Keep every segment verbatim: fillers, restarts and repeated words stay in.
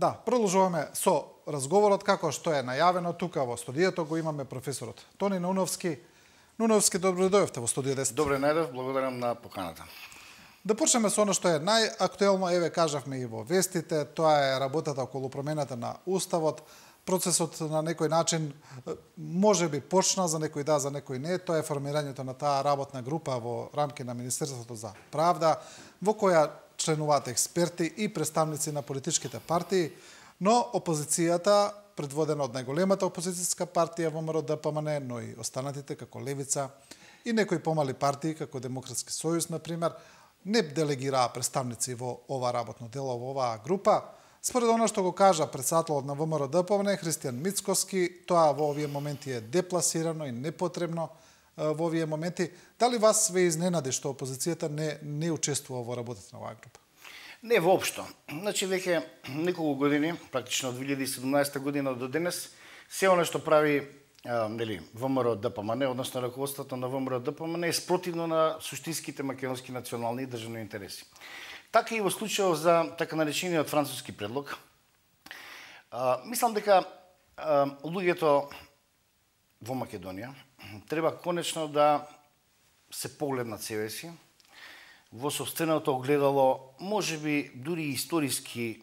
Да, продолжуваме со разговорот како што е најавено тука во студиото го имаме професорот Тони Нуновски. Нуновски, добро дојдовте во студио десет. Добре најдов, благодарам на поканата. Да почнеме со она што е најактуелно, еве кажавме и во вестите, тоа е работата околу промената на уставот. Процесот на некој начин може би почна, за некој да, за некој не. Тоа е формирањето на таа работна група во рамки на Министерството за правда, во која членуваат експерти и представници на политичките партии, но опозицијата, предводена од најголемата опозицијска партија ВМРО Д П М Н, но и останатите како Левица и некои помали партии како Демократски сојуз, например, не делегираа представници во ова работно дело, во оваа група. Според она што го кажа претседателот на ВМРО Д П М Н, Христијан Мицкоски, тоа во овие моменти е депласирано и непотребно во овие моменти. Дали вас ве изненади што опозицијата не, не учествува во работата на оваа група? Не воопшто. Значи, веќе неколку години, практично од две илјади и седумнаесета година до денес, се она што прави а, нели, ВМРО Д П М Н, односно раководството на ВМРО Д П М Н, е спротивно на суштинските македонски национални и државни интереси. Така и во случајот за така наречениот француски предлог. А, мислам дека а, луѓето во Македонија треба конечно да се погледнат себе си во сопственото огледало, можеби дури историски,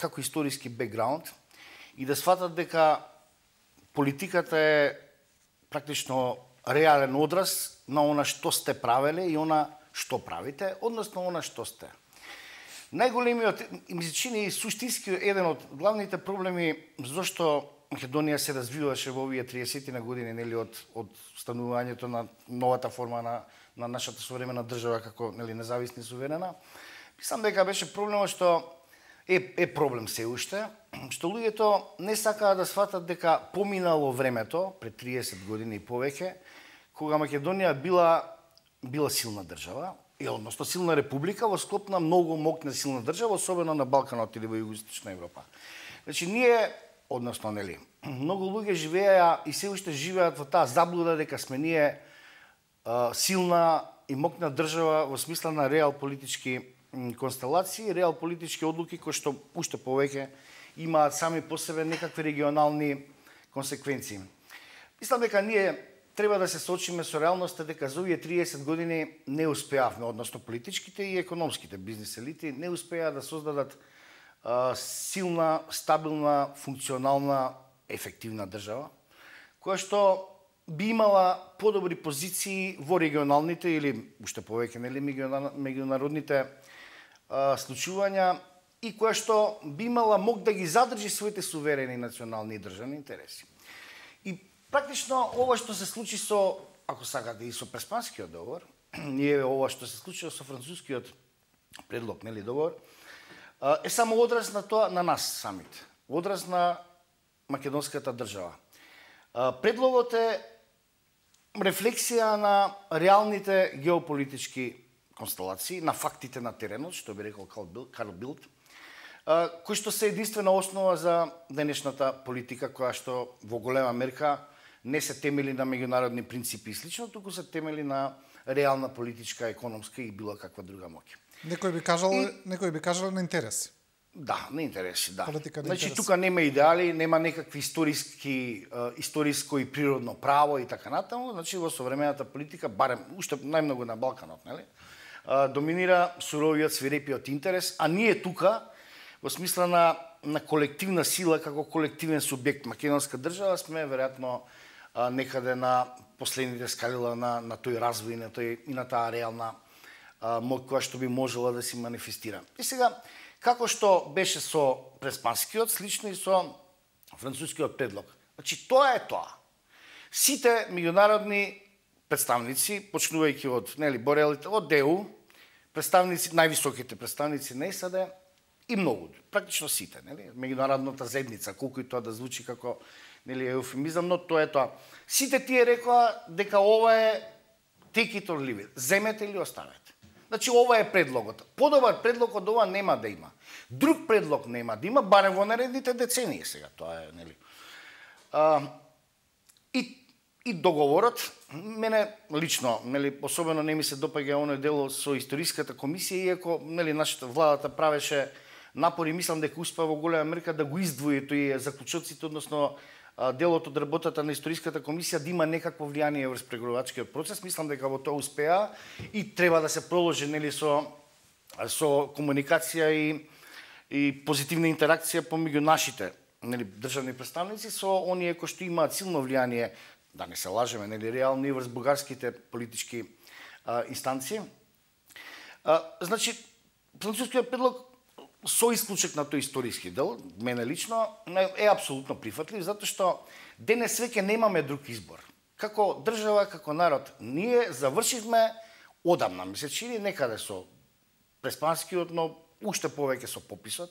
како историски бекграунд, и да сватат дека политиката е практично реален одраз на она што сте правеле и она што правите, односно она што сте. Најголемиот, ми се чини суштински еден од главните проблеми зашто Македонија се развиваше во овие триесет на години, нели, од од станувањето на новата форма на на нашата современа држава како, нели, независна и суверена. Мислам дека беше проблемот што е е проблем се уште, што луѓето не сакаат да сватат дека поминало времето пред триесет години и повеќе, кога Македонија била била силна држава, и односно силна република во склоп на многу моќна силна држава, особено на Балканот или во Југоисточна Европа. Значи ние, односно, нели, многу луѓе живееа и се уште живеат во таа заблуда дека сме ние а, силна и моќна држава во смисла на реал политички констелации, реал политички одлуки кои што уште повеќе имаат сами по себе некакви регионални консеквенции. Мислам дека ние треба да се соочиме со реалноста дека за овие триесет години не успеавме, односно политичките и економските бизнес елити не успеа да создадат а, силна, стабилна, функционална, ефективна држава, која што би имала подобри позиции во регионалните или уште повеќе, нели, меѓународните а, случувања и која што би имала мог да ги задржи своите суверени национални и државни интереси. И практично ова што се случи со, ако сакате, и со Преспанскиот договор, и ова што се случи со францускиот предлог, нели, договор, е само одраз на тоа, на нас самите, одраз на македонската држава. Предлогот е рефлексија на реалните геополитички констелации, на фактите на теренот, што би рекол Карл Билд, кои што се единствена основа за денешната политика, која што во голема мерка не се темели на меѓународни принципи и слично, туку се темели на реална политичка, економска и било каква друга моќ. Некој би кажал, и... некој би кажал на интереси. Да, на интереси, да. Политика на значи интереси. тука нема идеали, нема некакви историски, историско и природно право и така натаму, значи во современата политика, барем уште најмногу на Балканот, нели? Доминира суровиот, свирепиот интерес, а ние тука во смисла на на колективна сила како колективен субјект македонска држава сме веројатно некаде на последните скалила на на тој развој, на тој и на таа реална моќ која што би можела да се манифестира. И сега како што беше со Преспанскиот, слично и со францускиот предлог. Значи тоа е тоа. Сите меѓународни представници, почнувајќи од, нели, Борелите, од Д У, представници, највисоките представници на С А Д и многу, практично сите, нели, меѓународната заедница, колку и тоа да звучи како, нели, еуфемизам, но тоа е тоа. Сите тие рекоа дека ова е take it or leave it. Земете или оставете. Значи ова е предлогот. Подобар предлог од ова нема да има. Друг предлог нема да има, барем во наредните децении сега, тоа е, нели. А, и и договорот, мене лично, нели, особено не ми се допаѓа оној дел со историската комисија, иако, нели, нашата владата правеше напори, мислам дека успеа во голема мерка да го издвои тој заклучоците, односно делот од работата на историската комисија да има некакво влијание врз преговорувачкиот процес. Мислам дека во тоа успеа и треба да се продолжи, нели, со со комуникација и и позитивна интеракција помеѓу нашите, нели, државни представници со оние кои што имаат силно влијание, да не се лажеме, нели, реално и врз бугарските политички а, инстанции. А, значи, францускиот предлог со исклучок на тој историски дел, мене лично, е апсолутно прифатлив, затоа што денес веќе немаме друг избор. Како држава, како народ, ние завршивме одамна, ми се чини, некаде со преспанскиот, но уште повеќе со пописот.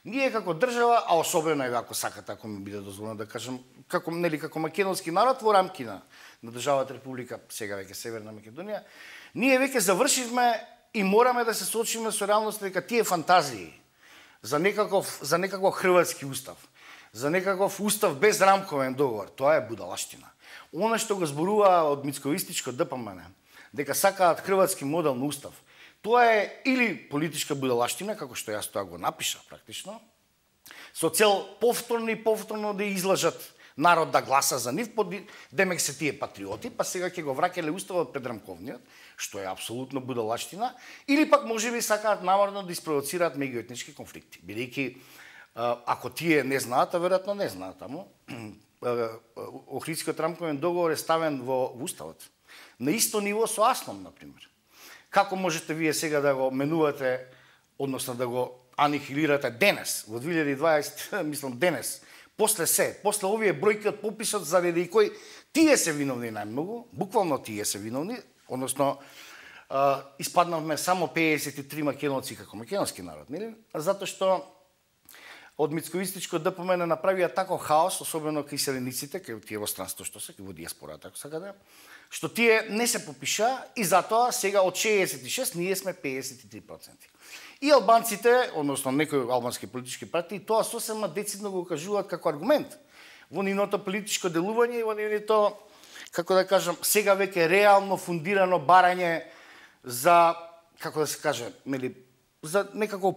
Ние како држава, а особено е ако сакате, ако ми биде дозволено да кажам, како, нели, како македонски народ во рамки на, на државата Република, сега веќе Северна Македонија, ние веќе завршивме и мораме да се соочиме со реалноста дека тие фантазии за некаков за некаков хрватски устав, за некаков устав без рамковен договор, тоа е будалаштина. Она што го зборува од мицковистичко ДПМН, дека сакаат хрватски модел на устав, тоа е или политичка будалаштина, како што јас тоа го напиша практично, со цел повторно и повторно да излажат народ да гласа за нив, под демек се тие патриоти, па сега ќе го враќале уставот пред рамковниот, што е апсолутно будалаштина, или пак можеби сакаат намерно да испровоцираат меѓуетнички конфликти. Бидејќи ако тие не знаат, а веројатно не знаат, таму Охридскиот рамковен договор е ставен во уставот на исто ниво со АСНОМ, например. Како можете вие сега да го менувате, односно да го анихилирате денес, во две илјади и дваесета, мислам денес, после се, после овие бројки од пописот заради кој тие се виновни најмногу, буквално тие се виновни, односно а, испаднавме само пеесет и три македонци како македонски народ, нели? Затоа што од мицковистичко ДПМН направија тако хаос, особено кај селениците, кај тие во странство што се, кај во диаспората, ако сакате, што тие не се попиша и затоа сега од шеесет и шест ние сме пеесет и три проценти. И албанците, односно некои албански политички партии, тоа сосема децидно го кажуваат како аргумент во нивното политичко делување и во нивното, како да кажам, сега веќе реално фундирано барање за, како да се каже, нели, за некако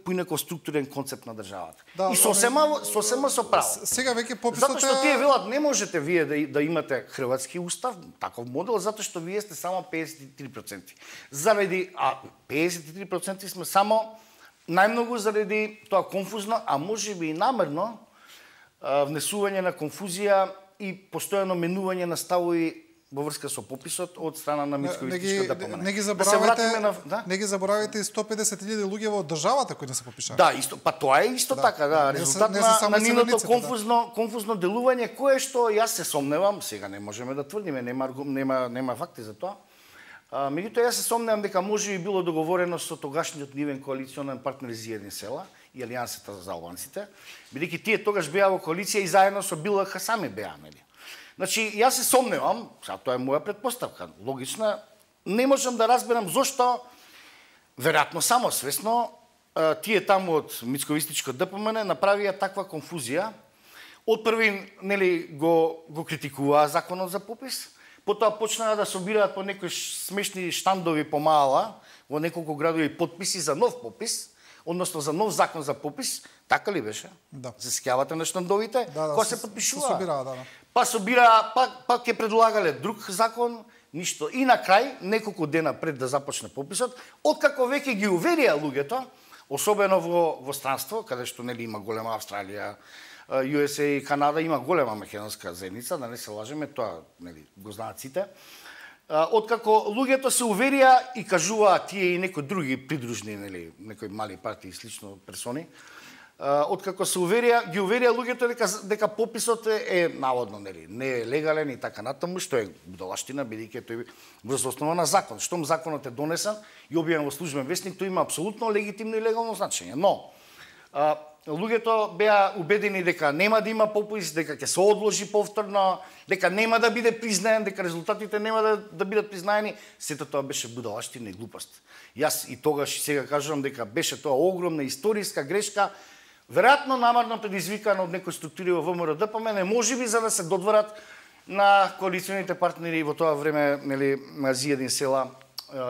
поинаков структурен концепт на државата. Да, и сосема, сосема со право. Сега веќе пописот затоа што тие велат не можете вие да, да имате хрватски устав, таков модел, затоа што вие сте само пеесет и три проценти. Заради, а пеесет и три проценти сме само најмногу заради тоа конфузно, а можеби и намерно внесување на конфузија и постојано менување на ставови во врска со пописот од страна на мицковистичка ДПМН. Не ги заборавајте, да на, да? Не ги заборавајте и сто и педесет илјади луѓе во државата кои не се попишаа. Да, исто, па тоа е исто да. Така, да, резултат не, не на, на нивното конфузно, да. конфузно делување, кое што јас се сомневам, сега не можеме да тврдиме, нема нема нема факти за тоа. А, меѓутоа јас се сомневам дека може би било договорено со тогашниот нивен коалиционен партнер Зиедин села и Алијансата за албанците, бидејќи тие тогаш беа во коалиција и заедно со БЛХ сами беа, нели? Значи, јас се сомневам, сега тоа е моја претпоставка, логична, не можам да разберам зошто, веројатно само свесно, тие таму од мицковистичко ДПМН направија таква конфузија. Од први, нели, го, го критикуваа законот за попис, потоа почнаа да собираат по некои смешни штандови по маала, во неколку градови подписи за нов попис, односно за нов закон за попис, така ли беше? Да. Се сеќавате на штандовите, да, да, кои се подпишува. Се собираа, да, да. Па собира, пак, пак ќе предлагале друг закон, ништо. И на крај, неколку дена пред да започне пописот, откако веќе ги уверија луѓето, особено во, во странство, каде што нели има голема Австралија, Ю Ес Ей и Канада, има голема македонска заедница, да не се лажеме, тоа нели го знаат сите. Откако луѓето се уверија и кажуваат тие и некои други придружни, нели, некои мали партии и слично персони, откако се уверија, ги уверија луѓето дека дека пописот е, е наводно, нели, не е легален и така натаму, што е будалаштина, бидејќи тој врз основа на закон. Штом законот е донесен и објавен во службен весник, тој има апсолутно легитимно и легално значење. Но а, луѓето беа убедени дека нема да има попис, дека ќе се одложи повторно, дека нема да биде признаен, дека резултатите нема да, да бидат признаени. Сето тоа беше будалаштина и глупост. Јас и тогаш сега кажувам дека беше тоа огромна историска грешка, веројатно намерно предизвикано од некои структури во ВМРО ДПМН, можеби за да се додворат на коалиционите партнери во тоа време, нели, на Зиедин села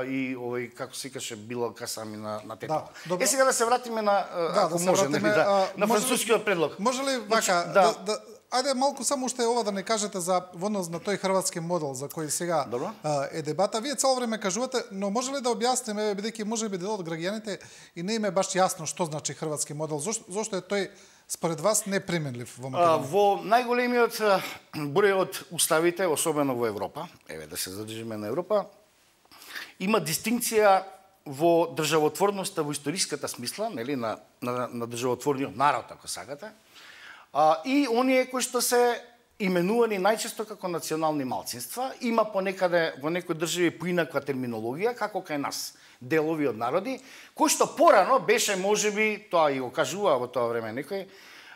и овој како се викаше било касами на на тето. Да, е сега да се вратиме на да, ако да може вратиме, нели, да, а, на може францускиот ли, предлог. Може ли вака значи, да, да, да ајде малку само уште ова да не кажете за во однос на тој хрватски модел за кој сега а, е дебата. Вие цело време кажувате, но може ли да објасниме бидејќи можеби дел од граѓаните и не им е баш јасно што значи хрватски модел? Зошто, зошто е тој според вас неприменлив во Македонија? Во најголемиот број од уставите, особено во Европа, еве да се задржиме на Европа, има дистинкција во државотворноста во историската смисла, нели, на, на, на државотворниот народ, ако сакате, а, и оние кои што се именувани најчесто како национални малцинства, има понекаде во некои држави поинаква терминологија, како кај нас, делови од народи, кој што порано беше можеби, тоа и го кажува во тоа време некој,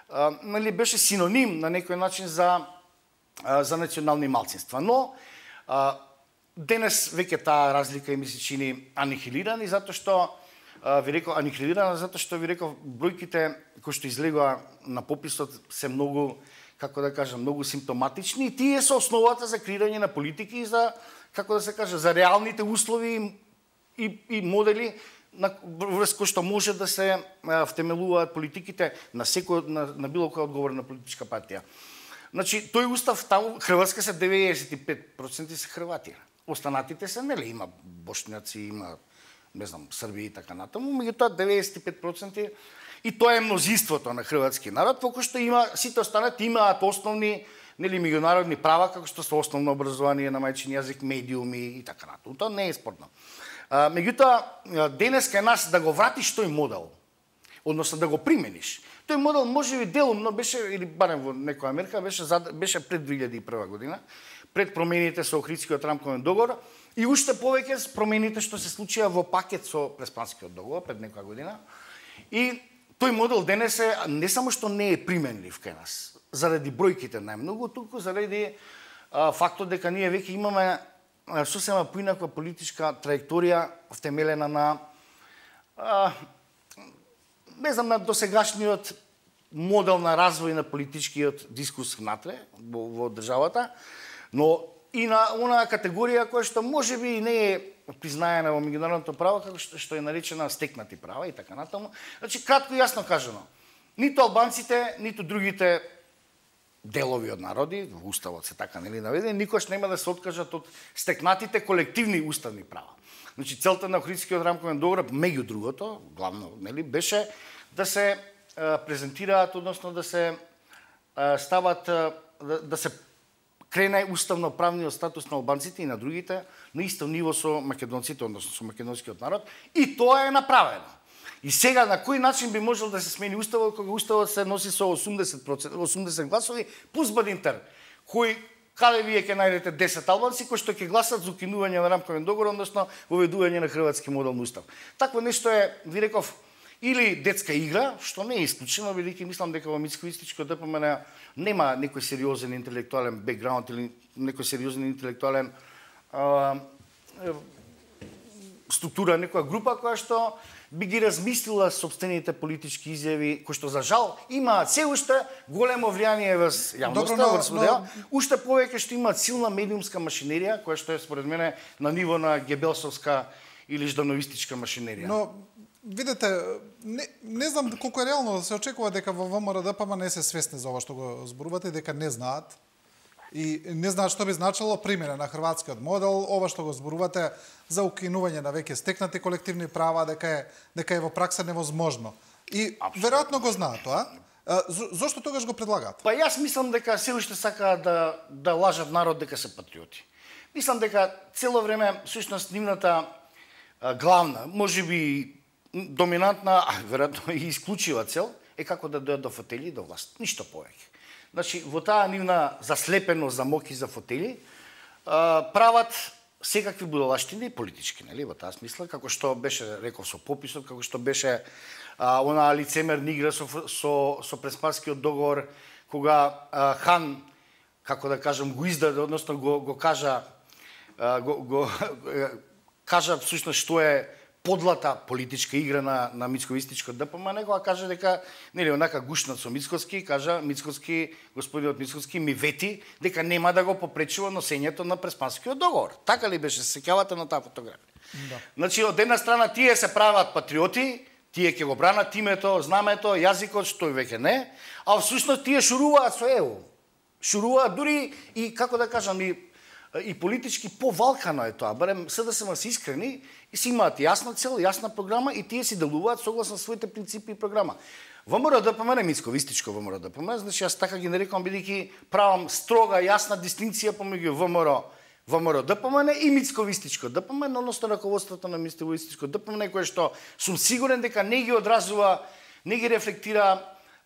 а, нели, беше синоним на некој начин за, а, за национални малцинства. Но, а, денес веќе таа разлика ми се чини анихилирана, затоа што ви реков анихилирана затоа што ви реков бројките кои што излегоа на пописот се многу, како да кажам, многу симптоматични и тие се основата за креирање на политики и за, како да се каже, за реалните услови и, и модели на врз кои што може да се втемелуваат политиките на секој на, на било која одговорна политичка партија. Значи, тој устав таму Хрватска се деветдесет и пет проценти се Хрвати. Останатите се, нели, има бошњаци, има, не знам, Срби и така натаму, меѓутоа деветдесет и пет проценти и тоа е мнозинството на хрватски народ, во кој што има, сите останати имаат основни, нели, меѓународни права, како што се основно образование на мајчин јазик, медиуми и така натаму. Тоа не е спорно. А, меѓутоа, денес кај нас да го вратиш тој модел, односно да го примениш, тој модел можеби делумно беше, или барем во некоја мерка, беше, беше пред две илјади и прва година, пред промените со Охридскиот рамковен договор и уште повеќе с промените што се случија во пакет со Преспанскиот договор пред некоја година. И тој модел денес е не само што не е применлив кај нас, заради бројките најмногу, туку заради а, фактот дека ние веќе имаме сосема поинаква политичка траекторија втемелена на а, не знам, на досегашниот модел на развој на политичкиот дискурс внатре во, во државата, но и на онаа категорија која што можеби не е признаена во меѓународното право, како што, што е наречена стекнати права и така натаму. Значи, кратко и јасно кажано, ниту албанците, ниту другите делови од народи, во уставот се така нели наведени, никош нема да се откажат од стекнатите колективни уставни права. Значи, целта на Охридскиот рамковен договор, меѓу другото, главно, нели, беше да се а, презентираат, односно да се а, стават, а, да, да се крене уставно-правниот статус на албанците и на другите на исто ниво со македонците, односно со македонскиот народ, и тоа е направено. И сега на кој начин би можел да се смени уставот кога уставот се носи со осумдесет проценти, осумдесет гласови плюс Бадинтер, кој каде вие ќе најдете десет албанци кои што ќе гласат за укинување на рамковен договор, односно воведување на хрватски модел на устав. Такво нешто е, ви реков, или детска игра, што не е исклучено, бидејќи мислам дека во Мицко-истичко ДПМН нема некој сериозен интелектуален бекграунд или некој сериозен интелектуален а, структура, некоја група која што би ги размислила собствените политички изјави, кои што за жал имаат се уште големо влијание врз јавноста, врз модел, уште повеќе што имаат силна медиумска машинерија, која што е според мене на ниво на гебелсовска или ждановистичка машинерија. Но видете, не, не знам колку е реално да се очекува дека во ВМРО-ДПМН не се свесни за ова што го зборувате, дека не знаат и не знаат што би значило примена на хрватскиот модел, ова што го зборувате за укинување на веќе стекнати колективни права, дека е дека е во пракса невозможно. И веројатно го знаат тоа. Зошто тогаш го предлагаат? Па јас мислам дека се уште сакаат да да лажат народ дека се патриоти. Мислам дека цело време всушност нивната главна, можеби доминантна, а веројатно и исклучива цел е како да дојдат до фотели и до власт. Ништо повеќе. Значи, во таа нивна заслепеност за моки за фотели, прават секакви будалаштини политички, нели, во таа смисла, како што беше реков со пописот, како што беше а, онаа лицемерна игра со со со Преспанскиот договор, кога а, хан, како да кажам, го издаде, односно го го кажа а, го, го кажа всушност што е подлата политичка игра на на Мицко-истичко ДПМН, кога кажа дека нели онака гушнат со Мицкоски, кажа Мицкоски, господинот Мицкоски ми вети дека нема да го попречува носењето на Преспанскиот договор. Така ли беше, се сеќавате на таа фотографија? Да. Значи, од една страна тие се прават патриоти, тие ќе го бранат името, знамето, јазикот, што веќе не, а всушност тие шуруваат со ЕУ. Шуруваат дури и, како да кажам, и, и политички повалкано е тоа. Барем се да се се искрени и си имаат јасна цел, јасна програма и тие си делуваат согласно своите принципи и програма. ВМРО ДПМН е мицковистичко ВМРО ДПМН, значи јас така ги нарекувам бидејќи правам строга јасна дистинција помеѓу ВМРО ВМРО ДПМН и мицковистичко ДПМН, односно раководството на мицковистичко ДПМН, кое што сум сигурен дека не ги одразува, не ги рефлектира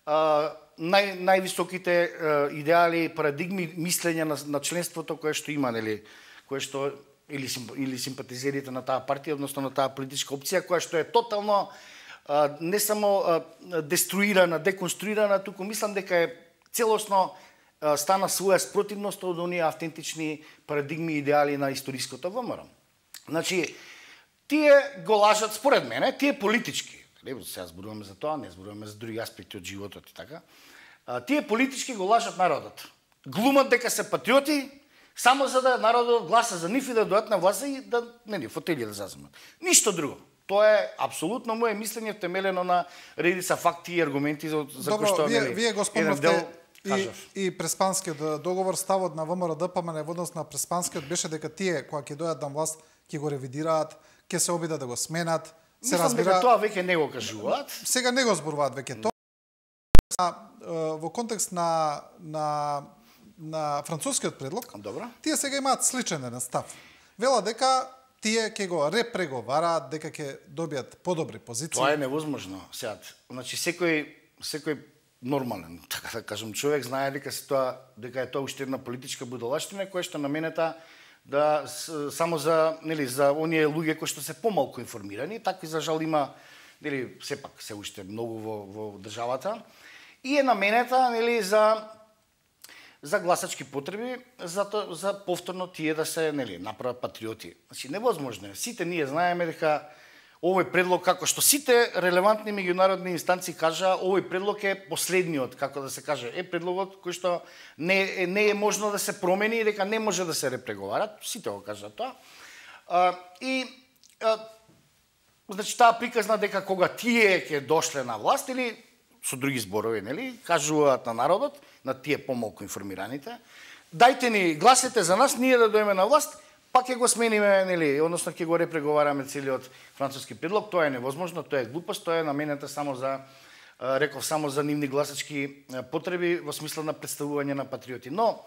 а, нај, највисоките а, идеали, парадигми, мислење на, на членството кое што има, нели, кое што или, или симпатизерите на таа партија, односно на таа политичка опција, која што е тотално а, не само а, деструирана, деконструирана, туку мислам дека е целосно стана своја спротивност од оние автентични парадигми и идеали на историското ВМРО. Значи, тие го лажат, според мене, тие политички, сега зборуваме за тоа, не зборуваме за други аспекти од животот и така, тие политички го лажат народот. Глумат дека се патриоти, само за да народот гласа за нив и да дојдат на власт и да, нели, фотели да заземат. Ништо друго. Тоа е апсолутно моје мислење темелено на редица факти и аргументи за, за Добро, кои што, вие, нели, вие го спомнавте дел, и, и Преспанскиот договор, ставот на ВМРО ДПМН во однос на Преспанскиот беше дека тие кога ќе дојдат на власт ќе го ревидираат, ќе се обидат да го сменат. Се Мислам разбира, дека тоа веќе не го кажуваат. Сега не го зборуваат веќе тоа. Во контекст на на на францускиот предлог, Добро. Тие сега имаат сличен еден став. Вела дека тие ќе го репреговараат, дека ќе добијат подобри позиции. Тоа е невозможно. Сега, значи секој секој нормален, така да кажам, човек знае дека се тоа дека е тоа уште една политичка будалаштина која што наменета да само за, нели, за оние луѓе кои што се помалку информирани, такви за жал има, нели, сепак се уште многу во во државата и е наменета, нели, за за гласачки потреби, за то, за повторно тие да се, нели, направат патриоти. Значи невозможно е. Сите ние знаеме дека овој предлог, како што сите релевантни меѓународни инстанции кажа, овој предлог е последниот, како да се каже, е предлогот кој што не, не е можно да се промени и дека не може да се репреговарат. Сите го кажат тоа. А, и а, значи таа приказна дека кога тие ќе дошле на власт или со други зборови, нели, кажуваат на народот, на тие помалку информираните, дајте ни гласете за нас, ние да дојдеме на власт, па ќе го смениме, нели, односно ќе го репреговараме целиот француски предлог. Тоа е невозможно, тоа е глупост, тоа е наменета само за, реков, само за нивни гласачки потреби во смисла на представување на патриоти. Но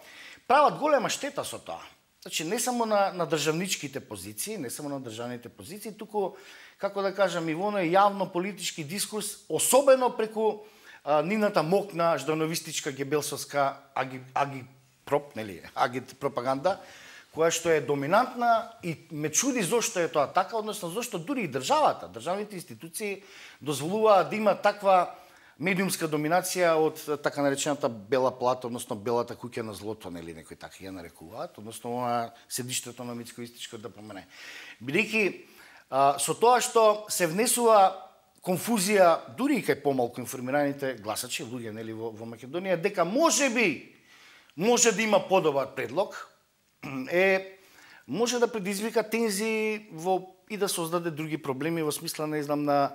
прават голема штета со тоа. Значи не само на, на државничките позиции, не само на државните позиции, туку, како да кажам, и во оној јавно политички дискурс, особено преку а, нивната мокна ждановистичка гебелсовска аги, агипроп, нели, агит пропаганда, која што е доминантна и ме чуди зошто е тоа така, односно зошто дури и државата, државните институции дозволуваат да има таква медиумска доминација од така наречената бела плата, односно белата куќа на злото, нели некои така ја нарекуваат, односно она седиштето на мицковистичко ДПМН. Бидејќи со тоа што се внесува конфузија дури и кај помалку информираните гласачи, луѓе, нели, во, во Македонија, дека можеби може да има подобар предлог, е може да предизвика тензии во и да создаде други проблеми во смисла, не знам, на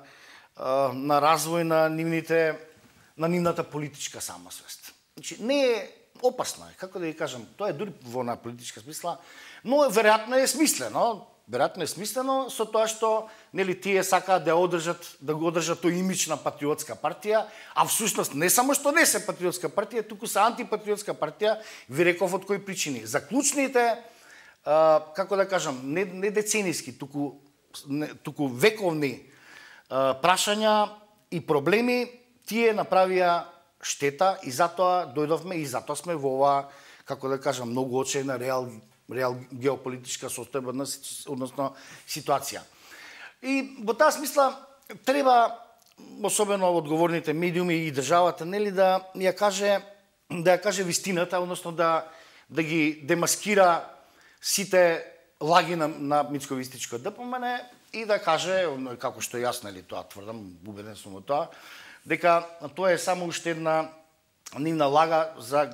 на развој на нивните на нивната политичка самосвест. Значи не е опасно е, како да ви кажам, тоа е дури во на политичка смисла, но веројатно е смислено, веројатно е смислено со тоа што, нели, тие сакаат да одржат да го одржат тој имидж на патриотска партија, а всушност не само што не се патриотска партија, туку се антипатриотска партија, ви реков од кои причини. Заклучните, а, како да кажам, не, не деценијски, туку не, туку вековни а, прашања и проблеми, тие направија штета и затоа дојдовме и затоа сме во ова, како да кажам, многу очајна реал реал геополитичка состојба, односно ситуација. И во таа смисла треба особено одговорните медиуми и државата, нели, да ја каже да ја каже вистината, односно да да ги демаскира сите лаги на, на мицковистичко ДПМН и да каже, како што јас, нели, тоа тврдам, убеден сум во тоа, дека тоа е само уште една нивна лага за,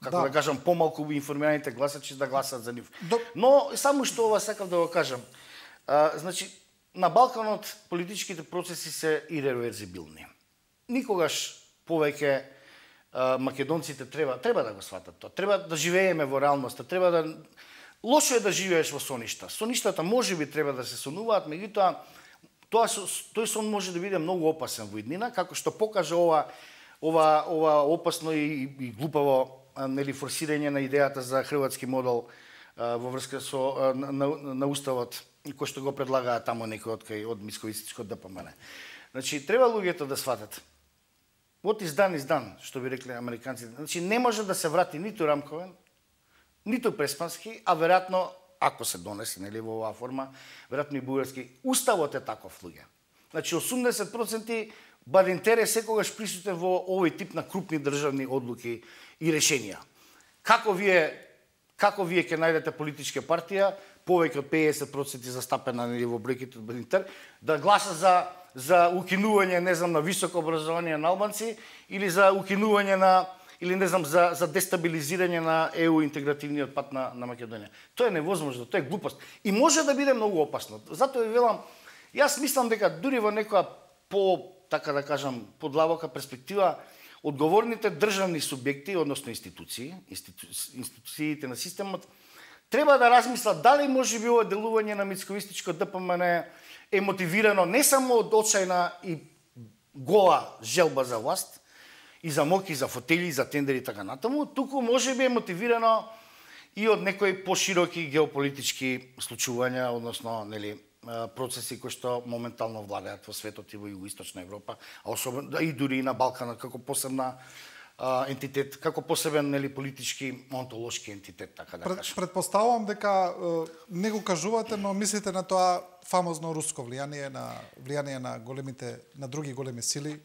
како да, да кажам, помалку информираните гласачи да гласат за нив. До... Но само што ова сакав да го кажам. А, значи, на Балканот политичките процеси се иреверзибилни. Никогаш повеќе а, македонците треба треба да го сватат тоа. Треба да живееме во реалноста, треба да лошо е да живееш во соништа. Соништата можеби треба да се сонуваат, меѓутоа тоа тој сон може да биде многу опасен во иднина, како што покажа ова ова ова опасно и, и глупаво нели форсирање на идејата за хрватски модел а, во врска со а, на, на, на уставот кој што го предлагаа таму некој од кај од Мицковистичко ДПМН. Значи треба луѓето да сватат. Вот издан издан, што би рекле американците. Значи не може да се врати ниту рамковен, ниту преспански, а веројатно ако се донесе нели во оваа форма, веројатно и бугарски уставот е таков луѓе. Значи осумдесет проценти Бадинтер е секогаш присутен во овој тип на крупни државни одлуки и решенија. Како вие како вие ќе најдете политичка партија повеќе од педесет проценти застапена нели во бројките од Бадинтер да гласа за за укинување, не знам, на високо образование на албанци или за укинување на или не знам за за дестабилизирање на Е У интегративниот пат на на Македонија. Тоа е невозможно, тоа е глупост и може да биде многу опасно. Затоа ви велам, јас мислам дека дури во некоја по така да кажам подлабока перспектива одговорните државни субјекти, односно институции, институ... институциите на системот треба да размислат дали може би ова делување на Мицковистичко ДПМН е мотивирано не само од очајна и гола желба за власт, и за моки, за фотели, за тендери и така натаму, туку може би е мотивирано и од некои пошироки геополитички случувања, односно нели процеси кои што моментално владеат во светот и во Југоисточна Европа, а особено и дури и на Балканот како посебна а, ентитет, како посебен нели политички онтолошки ентитет, така да Пред, кажам. Предпоставувам дека е, не го кажувате, но мислите на тоа фамозно руско влијание, на влијание на големите на други големи сили.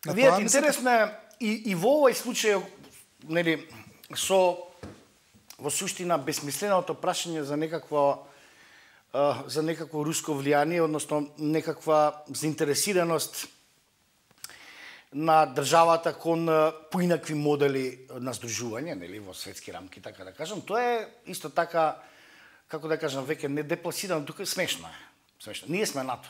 На Вие тоа интересно е и, и во овој случај нели со во суштина безсмисленото прашање за некакво за некакво руско влијание, односно некаква заинтересираност на државата кон поинакви модели на здружување, нели, во светски рамки, така да кажам. Тоа е исто така, како да кажам, веќе не депласирано, тука смешно е. Смешно. Ние сме НАТО.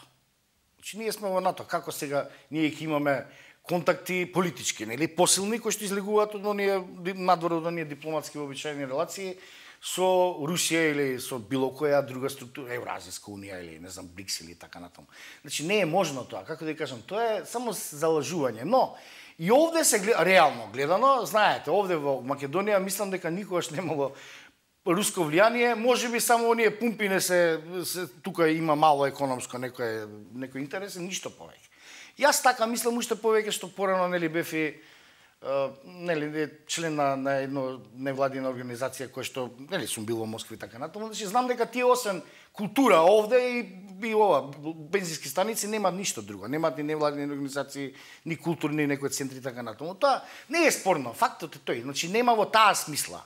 Значи ние сме во НАТО. Како сега ние ќе имаме контакти политички, нели, посилни кои што излегуваат од оние надвор од оние дипломатски вообичаени релации со Русија или со било која друга структура, Евразијска унија или не знам БРИКС или така натаму. Значи не е можно тоа, како да кажам, тоа е само залажување, но и овде се гледа, реално гледано, знаете, овде во Македонија мислам дека никогаш немало руско влијание, можеби само оние пумпи не се, се тука има мало економско некој некој интерес, ништо повеќе. Јас така мислам уште повеќе што порано нели бев и Uh, нели член на, на едно невладина организација која што нели сум бил во Москва и така натаму, значи знам дека тие освен култура овде и, и ова бензински станици нема ништо друго, немаат ни невладини организации, ни културни некои центри и така натаму. Тоа не е спорно, фактот е тој, значи нема во таа смисла.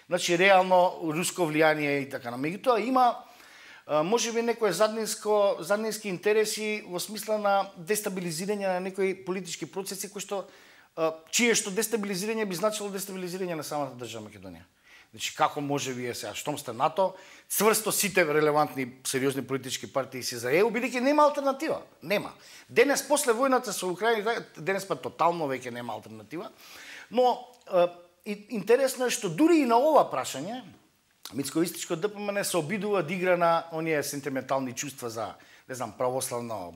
Значи реално руско влијание и така натаму. Меѓутоа има можеби некои заднинско заднински интереси во смисла на дестабилизирање на некои политички процеси кои што чие што дестабилизирање би значило дестабилизирање на самата држава Македонија. Значи како може вие сега, штом сте НАТО, цврсто сите релевантни сериозни политички партии си за Е У, бидејќи нема алтернатива. Нема. Денес после војната со Украина, денес па тотално веќе нема алтернатива, но е, интересно е што дури и на ова прашање Мицковистичко ДПМН се обидува да игра на оние сентиментални чувства за, не знам, православна,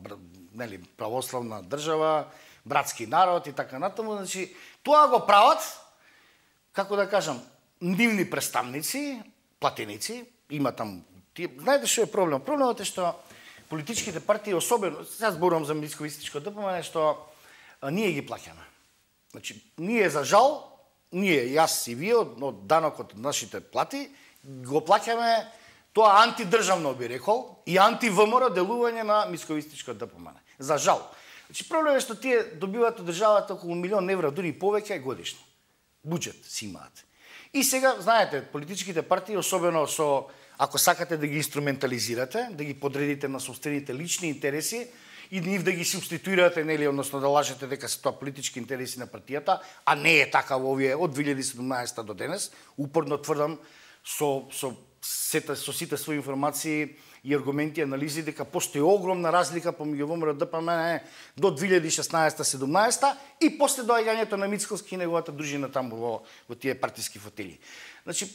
нели, православна држава, братски народ и така натаму, значи тоа го прават, како да кажам, нивни представници, платеници, има там, тие, знаете што е проблем? Проблемот е што политичките партии, особено, сега зборувам за Мицковистичко ДПМН, што а, ние ги плаќаме. Значи, ние за жал, ние, јас и вие, од, од данокот од нашите плати, го плаќаме тоа антидржавно би рекол и анти-ВМРО делување на Мицковистичко ДПМН. За жал. Значи проблемот е што тие добиваат од државата околу милион евра, дури и повеќе годишно. Буџет си имаат. И сега, знаете, политичките партии, особено со, ако сакате да ги инструментализирате, да ги подредите на собствените лични интереси и нив да ги субституирате, нели, односно да лажете дека се тоа политички интереси на партијата, а не е така во овие од две илјади и седумнаесета до денес, упорно тврдам со со сите со сите своји информации и аргументи, анализи дека постои огромна разлика помеѓу ВМРО Д P M N до две илјади и шеснаесета седумнаесета и после доаѓањето на Мицкоски и неговата дружина таму во, во тие партиски фотели. Значи,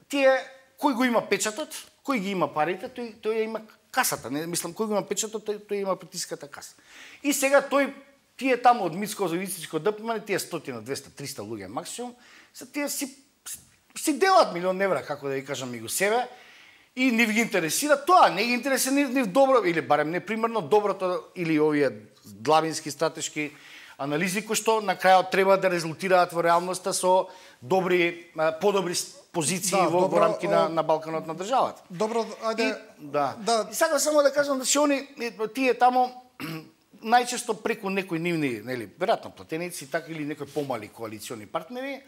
тие кој го има печатот, кој ги има парите, тој тој има касата, не мислам кој го има печатот, тој, тој има партиската каса. И сега тој тие таму од Мицко-Зовицичко Д P M N, тие стотина, двеста, триста луѓе максимум, се тие си си делат милион евра, како да ви кажам, и го себе, и не ги интересира тоа, не ги интересира ни, ни добро, или барем не примерно доброто, или овие длабински стратешки анализи, кои што на крајот треба да резултираат во реалноста со добри, подобри позиции да, во, добро, во рамки на, на Балканот на државата. Добро, ајде... И, да. да. И сега само да кажам, да се они, тие тамо, најчесто преку некои нивни, нели, веројатно платеници, така или некои помали коалициони партнери,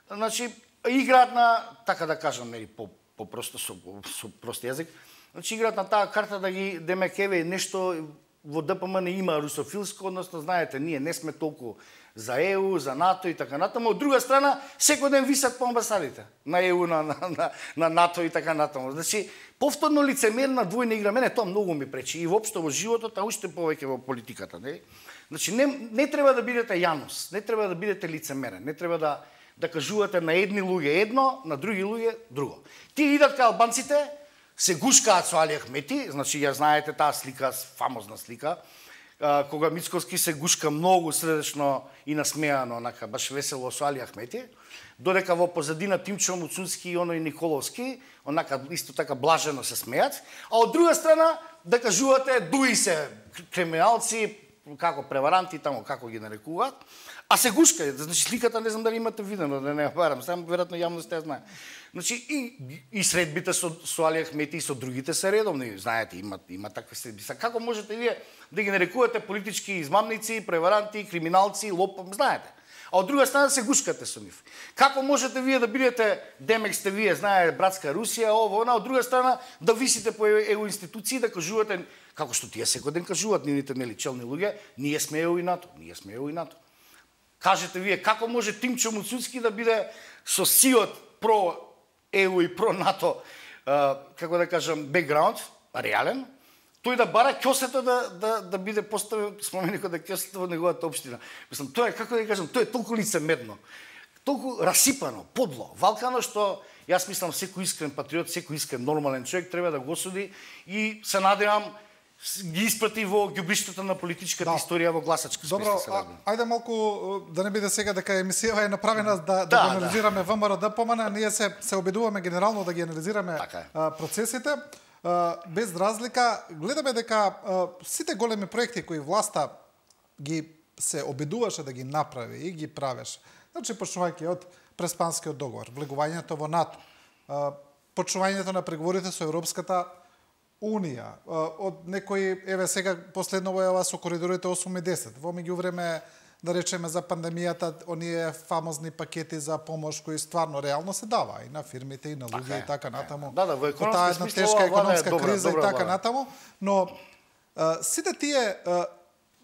значи, играат на, така да кажам, нели, по, по просто со, со прост јазик, значи играат на таа карта да ги демек еве нешто во Д P M N има русофилско, односно знаете, ние не сме толку за Е У, за НАТО и така натаму. Од друга страна, секој ден висат по амбасадите на Е У, на, на, на, на НАТО и така натаму. Значи, повторно лицемерна двојна игра, мене тоа многу ми пречи и воопшто во животот, а уште повеќе во политиката, нели? Значи, не, не треба да бидете Јанус, не треба да бидете лицемерен, не треба да да кажувате на едни луѓе едно, на други луѓе друго. Тие идат кај албанците, се гушкаат со Али Ахмети, значи ја знаете таа слика, фамозна слика, кога Мицкоски се гушка многу средечно и насмеано, онака баш весело со Али Ахмети, додека во позадина Тимчо Муцунски и оној Николовски, онака исто така блажено се смеат, а од друга страна да кажувате дуи се криминалци, како преваранти таму, како ги нарекуваат, а се гушка, значи сликата не знам дали имате видено, да не ја барам, само веројатно јавноста ја знае. Значи и и средбите со со Али Ахмети и со другите се редовни, знаете, има има такви средби. Са како можете вие да ги нарекувате политички измамници, преваранти, криминалци, лопов, знаете. А од друга страна се гушкате со нив. Како можете вие да бидете, демек сте вие, знае братска Русија, ово, она, од друга страна да висите по Е У институции да кажувате како што тие секој ден кажуваат нивните нели челни луѓе, ние сме Е У и НАТО, ние сме Е У и НАТО. Кажете вие како може Тимчо Муцунски да биде со сиот про Е У и про НАТО, како да кажам, бекграунд, реален, тој да бара ќосето да да да биде поставен споменикот да ќосето во неговата општина. Мислам, тоа е како да кажам, тоа е толку лицемерно, толку расипано, подло, валкано што јас мислам секој искрен патриот, секој искрен нормален човек треба да го осуди и се надевам ги испрати во ѓубриштата на политичката да. Историја во гласачка смисла. Добро, а, ајде малку да не биде сега дека емисијава е направена да, да, да го анализираме да. ВМРО Д P M N, ние се се обидуваме генерално да ги анализираме а, процесите. А, без разлика, гледаме дека а, сите големи проекти кои власта ги се обидуваше да ги направи и ги правеше. Значи почнувајќи од Преспанскиот договор, влегувањето во НАТО, а, почнувањето на преговорите со Европската Унија, од некои, еве сега последно во ова со коридорите осум и десет, во меѓувреме да речеме за пандемијата, оние фамозни пакети за помош кои стварно реално се дава и на фирмите и на луѓе и така натаму. Да, да, во економска смисла, тешка економска добра, криза добра, и така добра. Натаму, но а, сите тие а,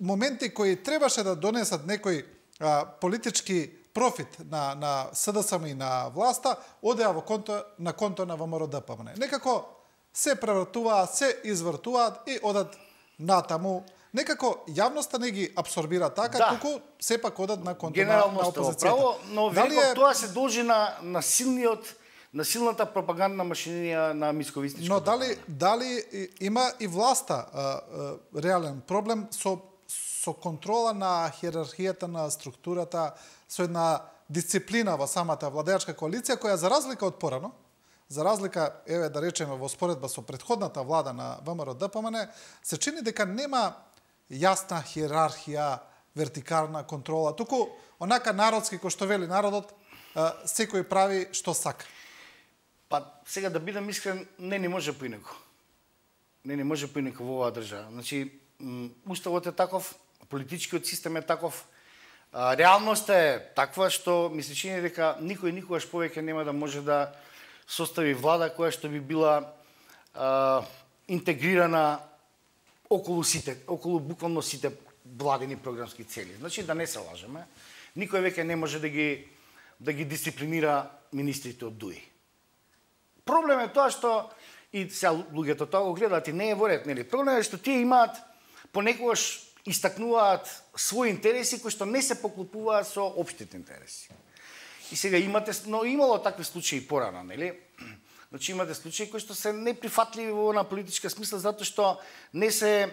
моменти кои требаше да донесат некој а, политички профит на на С Д С М и на власта, одеа во конто на конто на ВМРО Д P M N. Некако се превртуваат, се извртуваат и одат натаму. Некако јавноста не ги абсорбира така, да. Туку сепак одат на конто на, на опозицијата. Право, но велико е... тоа се должи на, на силниот на силната пропагандна машинерија на Мицковистичко. Но дали дали има и власта а, а, реален проблем со со контрола на хиерархијата на структурата, со една дисциплина во самата владеачка коалиција која за разлика од порано, за разлика, еве да речеме во споредба со претходната влада на ВМРО Д P M N, се чини дека нема јасна хиерархија, вертикална контрола, туку онака народски кој што вели народот, секој прави што сака. Па сега да бидам искрен, не ни може поинаку. Не ни може поинаку во оваа држава. Значи, уставот е таков, политичкиот систем е таков, реалноста е таква што ми се чини дека никој никогаш повеќе нема да може да состави влада која што би била а, интегрирана околу сите, околу буквално сите владини програмски цели. Значи да не се лажеме, никој веќе не може да ги да ги дисциплинира министрите од ДУИ. Проблем е тоа што и сега луѓето тоа го гледаат и не е во ред, нели? Проблемот е што тие имаат понекогаш истакнуваат своји интереси кои што не се поклопуваат со општите интереси. И сега имате, но имало такви случаи порано, нели? Значи имате случаи кои што се неприфатливи во на политичка смисла затоа што не се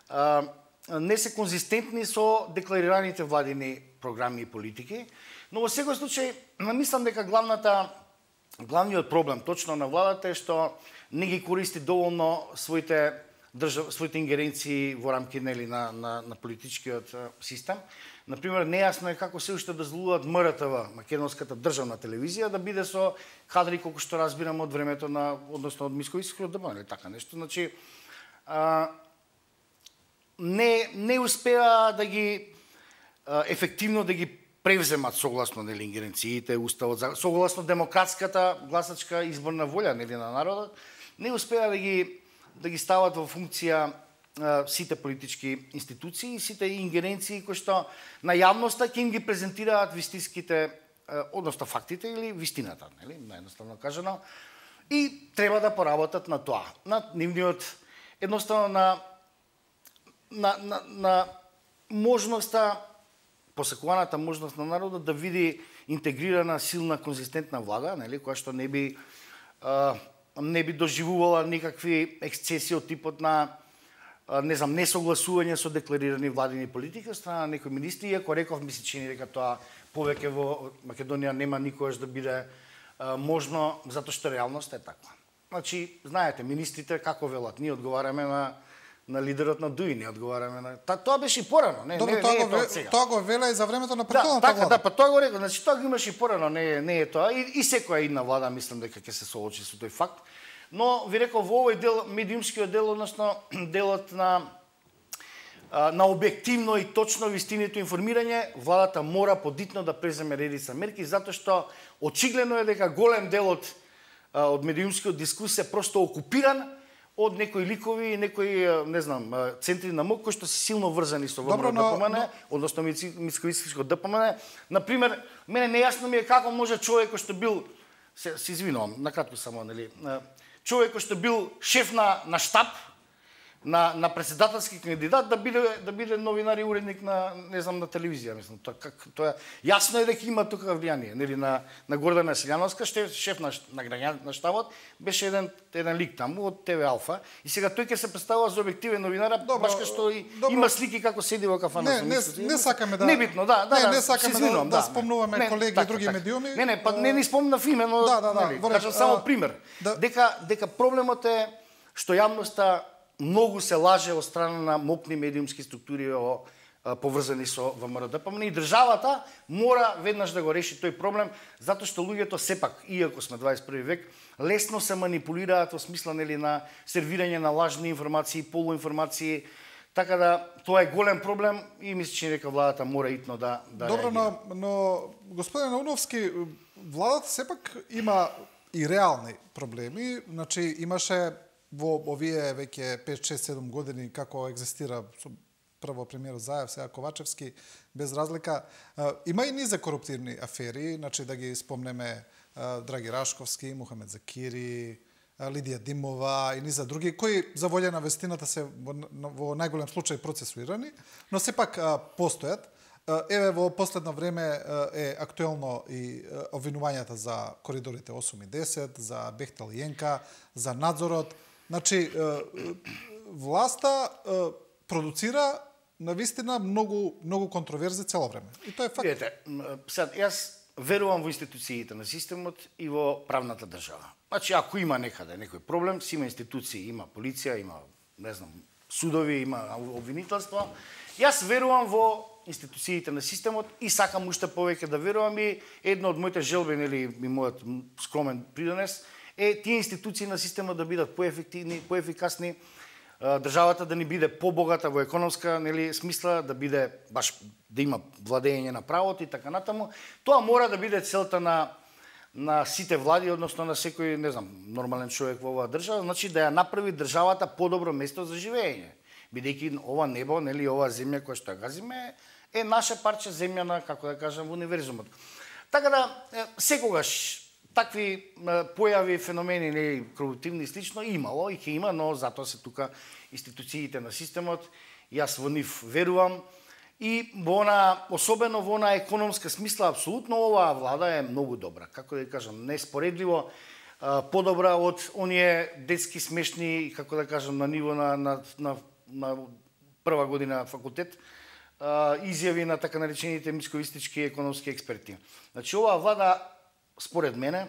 а, не се конзистентни со декларираните владини програми и политики, но во секој случај мислам дека главната главниот проблем точно на владата е што не ги користи доволно своите држав, своите ингеренции во рамки нели на на на политичкиот систем. Например, нејасно е како се уште дозволуваат М Р Т В, македонската државна телевизија, да биде со кадри колку што разбирам од времето на, односно од Мисковиќскиот ДПМН, или така нешто. Значи, а, не не успеа да ги а, ефективно да ги превземат согласно нели ингеренциите, уставот, согласно демократската гласачка изборна волја нели на народот, не успеа да ги да ги стават во функција сите политички институции и сите ингеренции кои што на јавноста ќе им ги презентираат вистинските, односно фактите или вистината, нели, наједноставно кажано, и треба да поработат на тоа, на нивниот едноставно на на на, на можноста, посакуваната можност на народот да види интегрирана, силна, конзистентна влада, нели, која што не би а, не би доживувала никакви ексцеси од типот на не знам, несогласување со декларирани владини политики од страна на некои министри, иако реков, ми се чини дека тоа повеќе во Македонија нема никогаш да биде а, можно, затоа што реалноста е таква. Значи, знаете, министрите како велат, ние одговараме на на лидерот на ДУИ, не одговараме на... Та, тоа беше и порано, не, Добро, не, тоа не е го, тоа сега. Тоа го веле и за времето на Да, претходната така, влада. да, па тоа го рекол, значи тоа го имаше и порано, не, не е тоа. И, и секоја една влада мислам дека ќе се соочи со тој факт. Но ви рекол во овој дел, медиумскиот дел, односно делот на на објективно и точно вистинито информирање, владата мора подитно да преземе редица мерки, затоа што очигледно е дека голем дел од од медиумскиот дискус е просто окупиран од некои ликови и некои, не знам, центри на МОК кои што се силно врзани со ВМРО ДПМН, но... односно Мисковиќскиот ДПМН. Например, мене нејасно ми е како може човек кој што бил, се, се извинувам, накратко само, нели, човек кој што бил шеф на на штаб на на председателски кандидат да биде да биде новинар и уредник на не знам на телевизија, мислам, тоа как тоа јасно е дека има тука влијание, нели на на Гордана Силјановска, шеф, шеф на на граѓан на штабот, беше еден еден лик таму од Т В Алфа и сега тој ќе се представува за објективен новинар, баш кај што и добро. Има слики како седи во кафана. Не, не, не, не сакаме да небитно, да, да, не, да, не сакаме да, да, да спомнуваме не, колеги така, и други така. медиуми. Не, не, па не ни спомнав име, но да, да, да, нели, во кажам само а, пример. Да. Дека дека проблемот е што јавноста многу се лаже од страна на мокни медиумски структури о, поврзани со ВМРО ДПМН и државата мора веднаш да го реши тој проблем, затоа што луѓето сепак, иако сме дваесет и први век, лесно се манипулираат во смисла нели на сервирање на лажни информации, полуинформации, така да тоа е голем проблем и мисля че дека владата мора итно да да Добро, реагира. но, но господин Науновски, владата сепак има и реални проблеми, значи имаше во овие веќе пет шест седум години како екзистира со прво премиерот Заев, сега Ковачевски, без разлика, има и низа коруптивни афери, значи да ги спомнеме Драги Рашковски, Мухамед Закири, Лидија Димова и низа други, кои за волја на вестината се во, во најголем случај процесуирани, но сепак постојат. Еве во последно време е актуелно и обвинувањата за коридорите осум и десет, за Бехтел и Јенка, за надзорот. Значи, власта продуцира навистина многу многу контроверзи цело време. И тоа е факт. Видете, сад, јас верувам во институциите на системот и во правната држава. Значи, ако има некаде некој проблем, си има институции, има полиција, има, не знам, судови, има обвинителство. Јас верувам во институциите на системот и сакам уште повеќе да верувам и една од моите желби, нели, и мојот скромен придонес, е тие институции на системот да бидат поефективни, поефикасни, државата да ни биде побогата во економска, нели, смисла, да биде баш да има владење на правото и така натаму. Тоа мора да биде целта на на сите влади, односно на секој, не знам, нормален човек во оваа држава, значи да ја направи државата подобро место за живење. Бидејќи ова небо, нели, оваа земја која што ја газиме е наше парче земја на, како да кажам, универзумот. Така да секогаш такви појави, феномени, не корупtivни и слично имало и ќе има, но затоа се тука институциите на системот. Јас во нив верувам и во она, особено во она економска смисла, апсолутно оваа влада е многу добра. Како да кажам, неспоредливо подобра од оние детски смешни, како да кажам, на ниво на на на, на прва година факултет, изјави на така наречените мицковистички економски експерти. Значи оваа влада според мене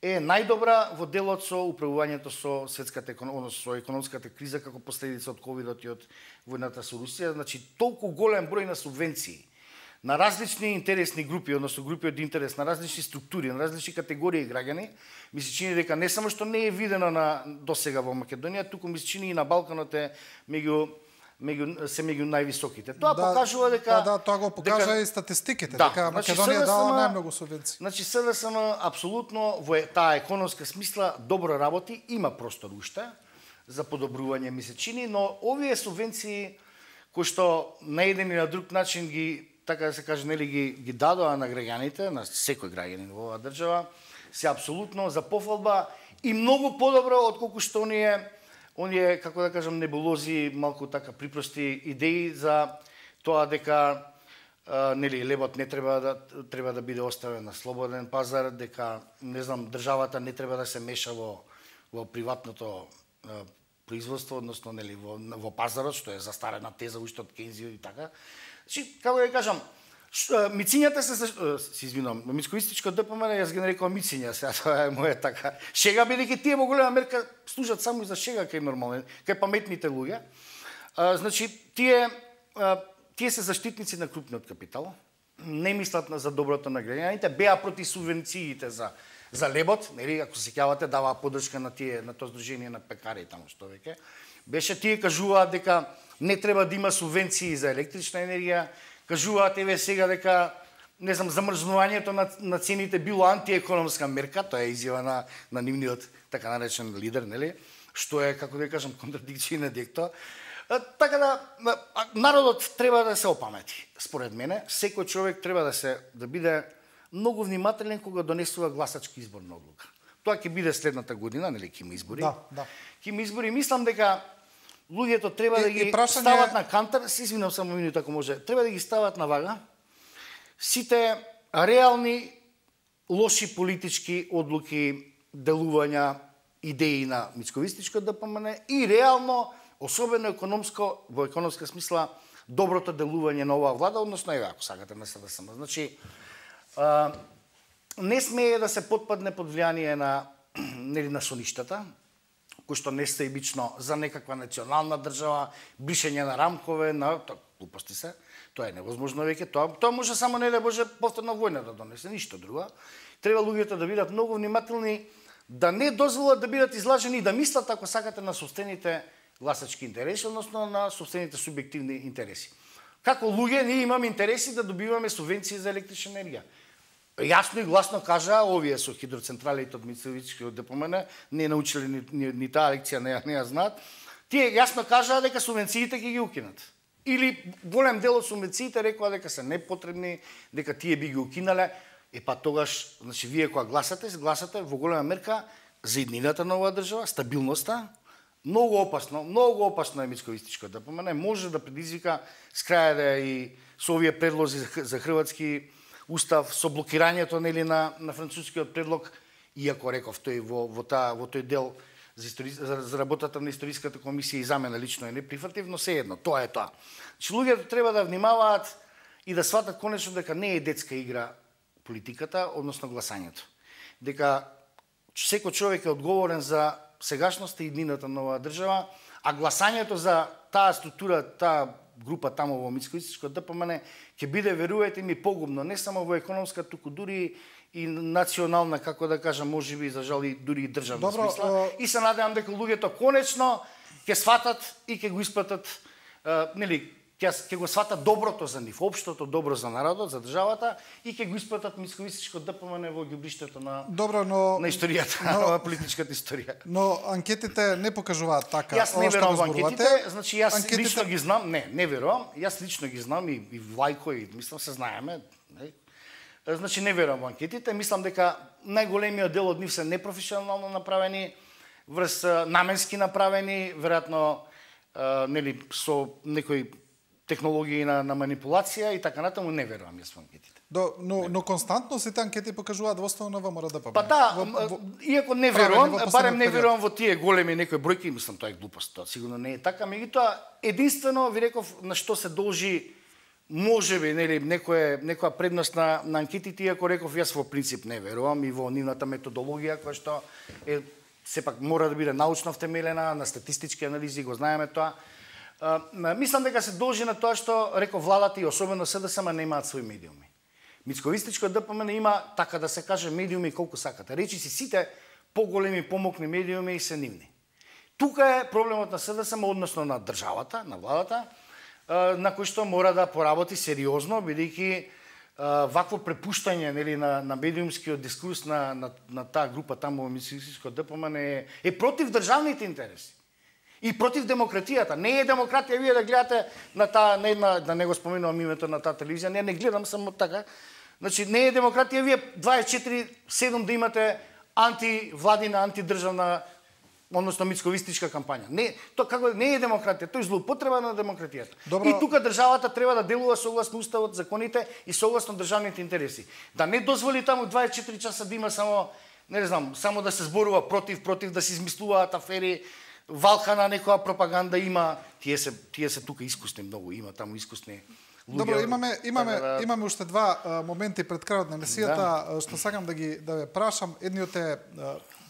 е најдобра во делот со управувањето со светската економија, со економската криза како последица од ковидот и од војната со Русија. Значи толку голем број на субвенции на различни интересни групи, односно групи од интерес, на различни структури, на различни категории граѓани, ми се чини дека не само што не е видено на досега во Македонија, туку ми се чини и на Балканот е меѓу меѓу се меѓу највисоките. Тоа да, покажува дека да, да, тоа го покажа дека, и статистиките, да, дека Македонија значи, дава најмногу субвенции. Значи СДСМ апсолутно во таа економска смисла добро работи, има простор уште за подобрување ми се чини, но овие субвенции кои што на еден и на друг начин ги, така да се каже, нели ги ги дадоа на граѓаните, на секој граѓанин во оваа држава, се апсолутно за пофалба и многу подобро отколку што оние оние, како да кажам, небулози, малку така припрости идеи за тоа дека а, нели лебот не треба да треба да биде оставен на слободен пазар, дека не знам државата не треба да се меша во во приватното а, производство, односно нели во во пазарот, што е застарена теза уште од Кейнс и така. Значи, како да кажам, мицињата се се извинувам, мицковистичко ДПМН јас ги нарекувам мициња, сега тоа е моја така шега, бидејќи тие во голема мерка служат само и за шега кај нормални, кај паметните луѓе. А, значи тие а, тие се заштитници на крупниот капитал, не мислат за доброто на граѓаните, беа против субвенциите за за лебот, нели, ако се сеќавате, даваа поддршка на тие на тоа здружение на пекари таму што веќе. Беше тие кажуваат дека не треба да има субвенции за електрична енергија. Кажуваат еве сега дека не знам замрзнувањето на на цените било антиекономска мерка, тоа е изјава на на нивниот така наречен лидер, нели? Што е, како да кажам, контрадикција на декто. Така да народот треба да се опамети. Според мене, секој човек треба да се да биде многу внимателен кога донесува гласачки изборна одлука. Тоа ќе биде следната година, нели, ќе има избори. Да, да. Ќе има избори, мислам дека луѓето треба и, да ги прашање... стават на кантар, се извинам само минута ако може, треба да ги стават на вага сите реални лоши политички одлуки, делувања, идеи на мицковистичко ДПМН и реално, особено економско, во економска смисла, доброто делување на оваа влада, односно еве ако сакате на СДСМ. Значи, а, не смее да се потпадне под влијание на нели на соништата, кои што не се ибично за некаква национална држава, бришење на рамкове, на глупости се. Тоа е невозможно веќе. Тоа тоа може само не да може повторна војна да донесе, ништо друго. Треба луѓето да бидат многу внимателни, да не дозволат да бидат излажени и да мислат ако сакате на собствените гласачки интереси, односно на собствените субјективни интереси. Како луѓе ние имаме интереси да добиваме субвенции за електрична енергија. Јасно и гласно кажа овие со хидроцентралите од Мицковистичкиот ДПМН, не научиле ни, ни, ни таа лекција, не ја не ја знаат. Тие јасно кажаа дека субвенциите ќе ги укинат. Или голем дел од субвенциите рекоа дека се непотребни, дека тие би ги укинале. Е па тогаш, значи вие кога гласате, гласате во голема мерка за иднината на оваа држава, стабилноста. Многу опасно, многу опасно е Мицковистичко ДПМН, може да предизвика с краје и со овие предлози за хрватски устав, со блокирањето нели на на францускиот предлог, иако реков тој во во таа во тој дел за, истори, за, за работата на историската комисија и за мене лично е неприфатлив, но се едно, тоа е тоа. Че луѓето треба да внимаваат и да сватат конечно дека не е детска игра политиката, односно гласањето. Дека секој човек е одговорен за сегашноста и иднината на оваа држава, а гласањето за таа структура, таа група таму во Мицковистичко ДПМН ќе биде, верувајте ми, погубно не само во економска, туку дури и национална, како да кажам, можеби за жал и дури и државна Добро, смисла. о... И се надевам дека луѓето конечно ќе сватат и ќе го испратат, нели, ќе ќе го сватат доброто за нив, општото добро за народот, за државата и ќе го испратат Мицковистичко ДПМН во ѓубриштето на Добро, но на историјата, но, на политичката историја. Но анкетите не покажуваат така. Јас не верувам во анкетите, значи јас анкетите... лично ги знам, не, не верувам, јас лично ги знам и, и Влајко и мислам се знаеме, не? Значи не верувам во анкетите, мислам дека најголемиот дел од нив се непрофесионално направени, врз наменски направени, веројатно нели со некои технологии на, на манипулација и така натаму, не верувам јас во анкетите. До, но, но константно сите анкети покажуваат во основа на ВМРО ДПМН. Па да, во, во, иако не верувам, барем не верувам во тие големи некои бројки, мислам тоа е глупост, тоа сигурно не е така, меѓутоа единствено ви реков на што се должи можеби нели некоја некоја предност на, на анкетите, иако реков јас во принцип не верувам и во нивната методологија која што е сепак мора да биде научно втемелена, на статистички анализи, го знаеме тоа. А, мислам дека се должи на тоа што реков владата и особено СДСМ немаат своји медиуми. Мицковистичко ДПМН има, така да се каже, медиуми колку сакате. Речи си сите поголеми помокни медиуми се нивни. Тука е проблемот на СДСМ, односно на државата, на владата, на кој што мора да поработи сериозно, бидејќи вакво препуштање нели на на медиумскиот дискурс на на, на таа група таму во Мицковистичко ДПМН е, е против државните интереси. И против демократијата. Не е демократија вие да гледате на таа не на да не го споменувам името на таа телевизија, не не гледам само така. Значи не е демократија вие дваесет и четири седум да имате антивладина, антидржавна, односно мицковистичка кампања. Не, тоа како не е демократија, тоа е злоупотреба на демократијата. Добро. И тука државата треба да делува согласно уставот, законите и согласно државните интереси. Да не дозволи таму дваесет и четири часа да има само не знам, само да се зборува против, против да се измислуваат афери, валка на некоја пропаганда има, тие се тие се тука искусни многу, има таму искусни луѓе. Добро, имаме имаме да... имаме уште два а, моменти пред крајот на емисијата да. Што сакам да ги да ве прашам. Едниот е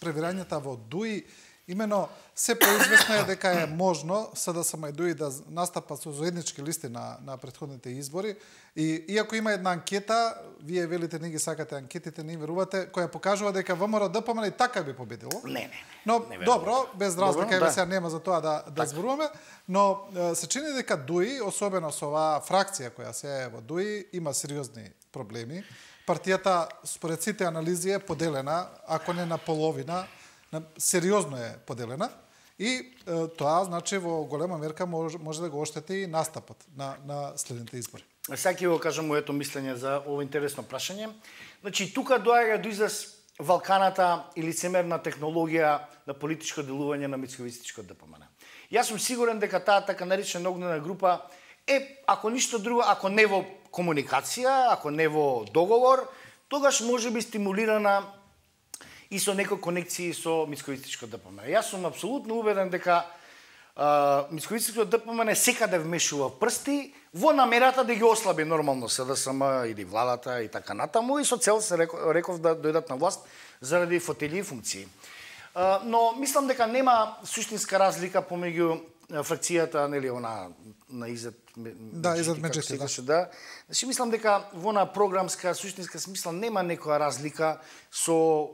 превирањата во ДУИ. Имено се поизвестно е дека е можно СДСМ и ДУИ да настапат со заеднички листи на на претходните избори и иако има една анкета, вие велите не ги сакате анкетите, не верувате, која покажува дека ВМРО ДПМН и така би победило. Не, не. Но не добро, без разлика еве да. сега нема за тоа да да зборуваме, но се чини дека ДУИ, особено со оваа фракција која се е во ДУИ, има сериозни проблеми. Партијата според сите анализи е поделена, ако не на половина, сериозно е поделена и е, тоа значи во голема мерка може, може да го оштети настапот на на следните избори. Сега ќе го кажам моето мислење за ово интересно прашање. Значи тука доаѓа до израз валканата и лицемерна технологија на политичко делување на Мицковистичко ДПМН. Јас сум сигурен дека таа така наречена огнена група е, ако ништо друго, ако не во комуникација, ако не во договор, тогаш може би стимулирана и со некои конекции со Мицковистичко ДПМН. Јас сум апсолутно убеден дека Мицковистичко ДПМН секаде вмешува прсти во намерата да ги ослаби нормално СДСМ или владата и така натаму и со цел се реков да дојдат на власт заради фотели и функции. Но мислам дека нема суштинска разлика помеѓу фракцијата, нели, она на Изет Да, Изет Меджити, да. да. Значи мислам дека во на програмска суштинска смисла нема некоја разлика со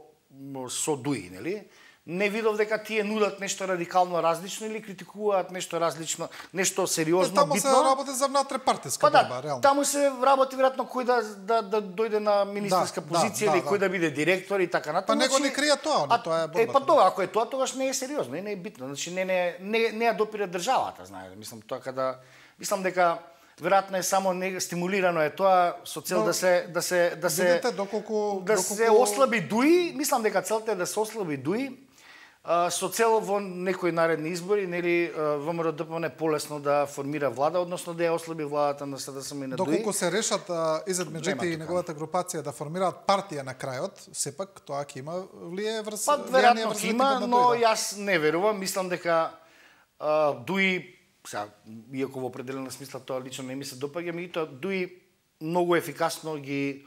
со ДУИ, нели? Не видов дека тие нудат нешто радикално различно или критикуваат нешто различно, нешто сериозно, таму битно. Таму се работи за внатре-партиска па да, борба, реално. Таму се работи веројатно кој да, да, да дојде на министерска да, позиција да, или да, кој да. да биде директор и така натаму. Па него не крија тоа, но тоа е борбата. Е, па тоа, ако е тоа, тогаш не е сериозно, не е битно. Значи не не не, не ја допира државата, знаете. Мислам тоа када мислам дека веројатно е само не стимулирано е тоа со цел Но, да се да се да се видите доколку да доколку... се ослаби ДУИ, мислам дека целта е да се ослаби ДУИ а, со цел во некои наредни избори, нели ВМРО ДПМН полесно да формира влада, односно да ја ослаби владата на СДСМ и на ДУИ. Доколку се решат Изет Меджити и неговата групација да формираат партија на крајот, сепак тоа ќе има влијае врз Па влијание веројатно врз има, на но ДУИ, да. јас не верувам, мислам дека а, ДУИ сега, иако во определена смисла тоа лично не ми се допаѓа, меѓутоа ДУИ многу ефикасно ги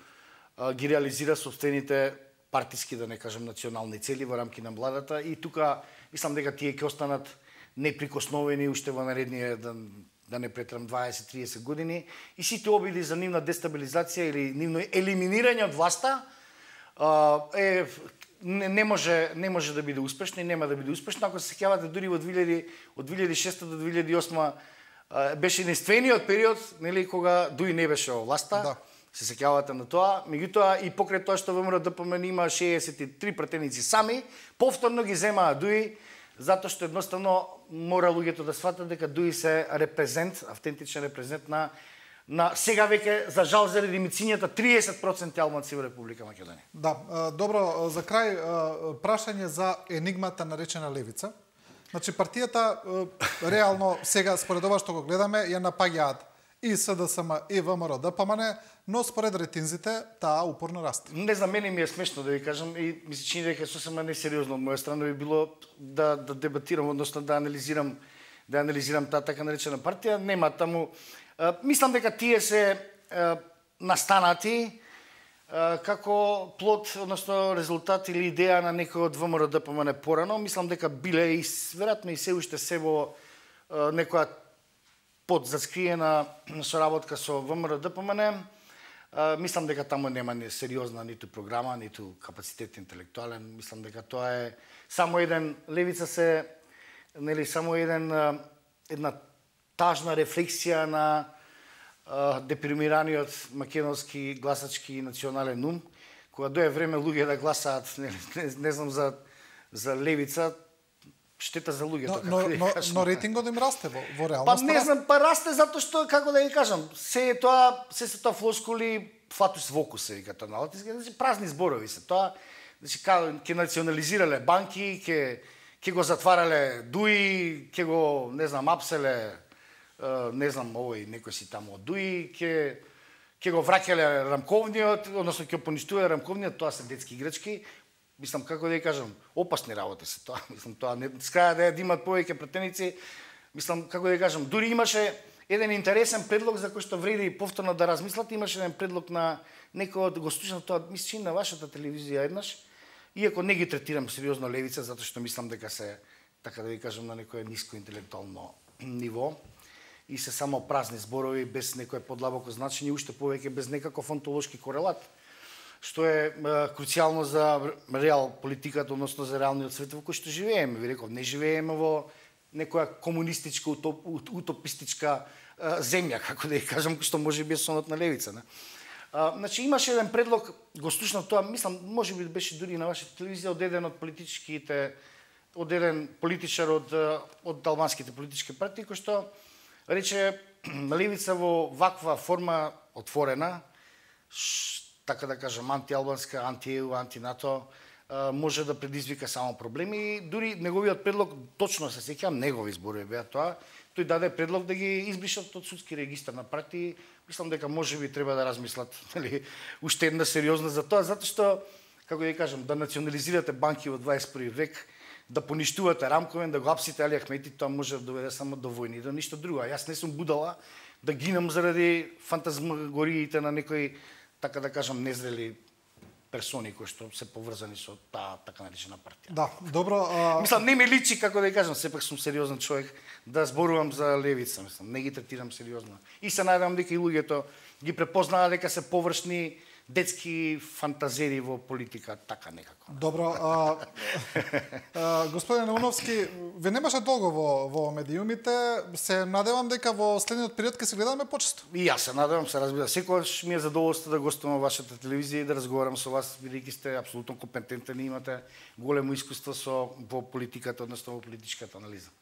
ги реализира собствените партиски, да не кажам национални цели во рамки на владата и тука мислам дека тие ќе останат неприкосновени уште во наредние да, да не претрам дваесет-триесет години и сите обиди за нивна дестабилизација или нивно елиминирање од власта е Не, не може не може да биде успешно и нема да биде успешно. Ако се сеќавате дури во две илјади од две илјади и шеста до две илјади и осма беше единствениот период, нели, кога ДУИ не беше во власта. Да. Се сеќавате на тоа, меѓутоа и покрај тоа што ВМРО ДПМН има шеесет и три пратеници сами, повторно ги земаа ДУИ затоа што едноставно мора луѓето да сватат дека ДУИ се репрезент, автентичен репрезент на на сега веќе за жал заради мицињата триесет проценти албанци во Република Македонија. Да, добро, за крај прашање за енигмата наречена левица. Значи партијата реално сега според ова што го гледаме ја напаѓаат и СДСМ и ВМРО ДПМН, но според ретинзите таа упорно расте. Не знам, мене ми е смешно да ви кажам и ми се чини дека сосема несериозно од моја страна би било да да дебатирам, односно да анализирам да анализирам таа така наречена партија. Нема таму. Uh, мислам дека тие се uh, настанати uh, како плод, односно резултат или идеја на некој од ВМРО ДПМН порано. Мислам дека биле и веројатно и се уште се во uh, некоја подзаскриена соработка со ВМРО ДПМН. Uh, мислам дека таму нема ни сериозна ниту програма, ниту капацитет интелектуален. Мислам дека тоа е само еден левица се нели само еден uh, една тажна рефлексија на uh, депримираниот македонски гласачки национален ум, кога дое време луѓе да гласаат, не, не, не знам за за левица, штета за луѓето. Но, но, но, но рейтингот им расте во, во реалност. Па не знам, па расте затоа што, како да ги кажам, се е тоа, се се тоа флоскули, флатус вокус се вика тоа налог, значи празни зборови се тоа, значи ќе национализирале банки, ќе ќе го затварале ДУИ, ќе го, не знам, апселе, не знам, овој некој си таму од ДУИ, ќе ќе го враќале рамковниот, односно ќе поништувале рамковниот, тоа се детски играчки. Мислам, како да ја кажам, опасни работи се тоа. Мислам, тоа не скаја да ја имат повеќе претеници. Мислам, како да ја кажам, дури имаше еден интересен предлог за кој што вреди повторно да размислат. Имаше еден предлог на некој од гостувачите, тоа мислам на вашата телевизија еднаш. Иако не ги третирам сериозно левица, затоа што мислам дека се, така да ви кажам, на некое ниско интелектуално ниво и се само празни зборови без некое подлабоко значење, уште повеќе без некаков онтолошки корелат, што е, е круцијално за реал политиката, односно за реалниот свет во кој што живееме. Ви реков, не живееме во некоја комунистичка, утоп, утопистичка е, земја, како да ја кажам, што може би е сонот на левица. Не? А, значи имаше еден предлог, го слушнав тоа, мислам, може би беше дури на вашата телевизија, од еден од политичките, од еден политичар од, од албанските политички партии, кој што рече левица во ваква форма отворена, ш, така да кажам, антиалбанска, анти-ЕУ, анти-НАТО, може да предизвика само проблеми и дури неговиот предлог, точно се сеќавам, негови зборови беа тоа, тој даде предлог да ги избришат од судски регистар на партии. Мислам дека можеби треба да размислат, нели, уште една сериозна за тоа, затоа што, како да кажам, да национализирате банки во дваесет и први век, да поништувате рамковен, да го апсите Али Ахмети, тоа може да доведе само до војни, до ништо друго. Јас не сум будала да гинам заради фантазмагориите на некои, така да кажам, незрели персони кои што се поврзани со таа така наречена партија. Да, добро. А... Мислам, не ми личи, како да кажам, сепак сум сериозен човек да зборувам за левица, мислам, не ги третирам сериозно. И се надевам дека и луѓето ги препознаат дека се површни детски фантазери во политика, така некако. Добро, а, а, господин Неуновски, ве немаше долго во, во медиумите, се надевам дека во следниот период ќе се гледаме почесто. И јас се надевам, се разбира. Секогаш ми е задоволство да гостувам во вашата телевизија и да разговарам со вас, бидејќи сте апсолутно компетентни и имате големо искуство со во политиката, односно во политичката анализа.